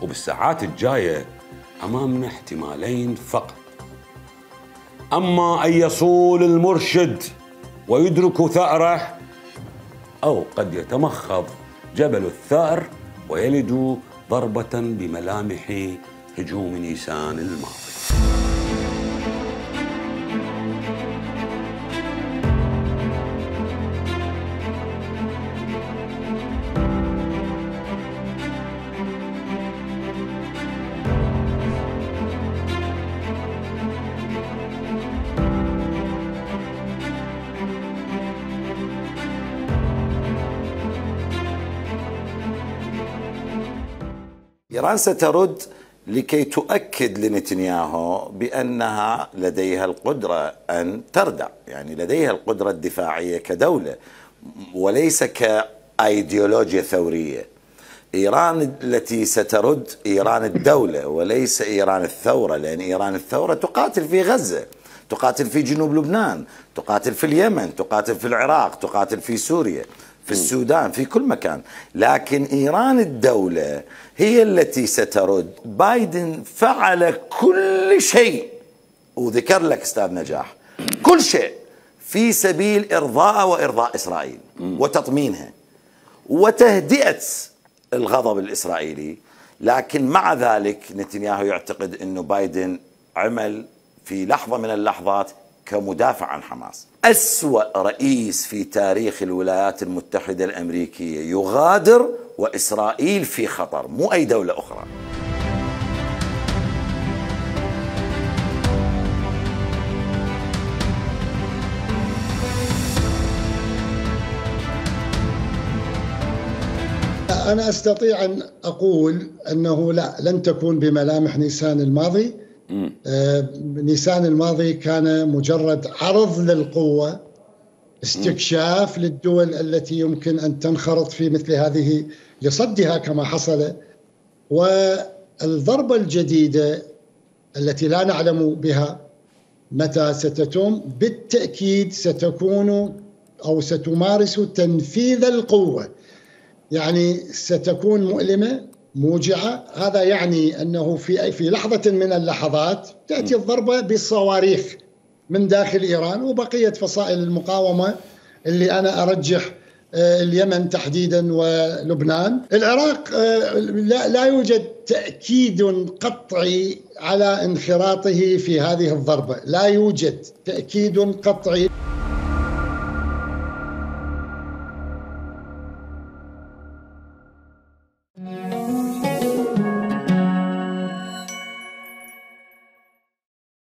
وبالساعات الجاية أمامنا احتمالين فقط: أما أن يصول المرشد ويدرك ثأره، أو قد يتمخض جبل الثأر ويلد ضربة بملامح هجوم نيسان الماضي. إيران سترد لكي تؤكد لنتنياهو بأنها لديها القدرة أن تردع، يعني لديها القدرة الدفاعية كدولة وليس كأيديولوجيا ثورية. إيران التي سترد إيران الدولة وليس إيران الثورة، لأن إيران الثورة تقاتل في غزة، تقاتل في جنوب لبنان، تقاتل في اليمن، تقاتل في العراق، تقاتل في سوريا، في السودان، في كل مكان. لكن إيران الدولة هي التي سترد. بايدن فعل كل شيء، وذكر لك أستاذ نجاح كل شيء في سبيل إرضاء وإرضاء إسرائيل وتطمينها وتهدئة الغضب الإسرائيلي. لكن مع ذلك نتنياهو يعتقد أنه بايدن عمل في لحظة من اللحظات كمدافع عن حماس. أسوأ رئيس في تاريخ الولايات المتحدة الأمريكية يغادر وإسرائيل في خطر، مو أي دولة أخرى. أنا أستطيع أن أقول أنه لا، لن تكون بملامح نيسان الماضي. نيسان الماضي كان مجرد عرض للقوة، استكشاف للدول التي يمكن أن تنخرط في مثل هذه لصدها كما حصل. والضربة الجديدة التي لا نعلم بها متى ستتم بالتأكيد ستكون أو ستمارس تنفيذ القوة، يعني ستكون مؤلمة موجعة. هذا يعني أنه في لحظة من اللحظات تأتي الضربة بالصواريخ من داخل إيران وبقية فصائل المقاومة اللي أنا أرجح اليمن تحديدا ولبنان. العراق لا يوجد تأكيد قطعي على انخراطه في هذه الضربة، لا يوجد تأكيد قطعي.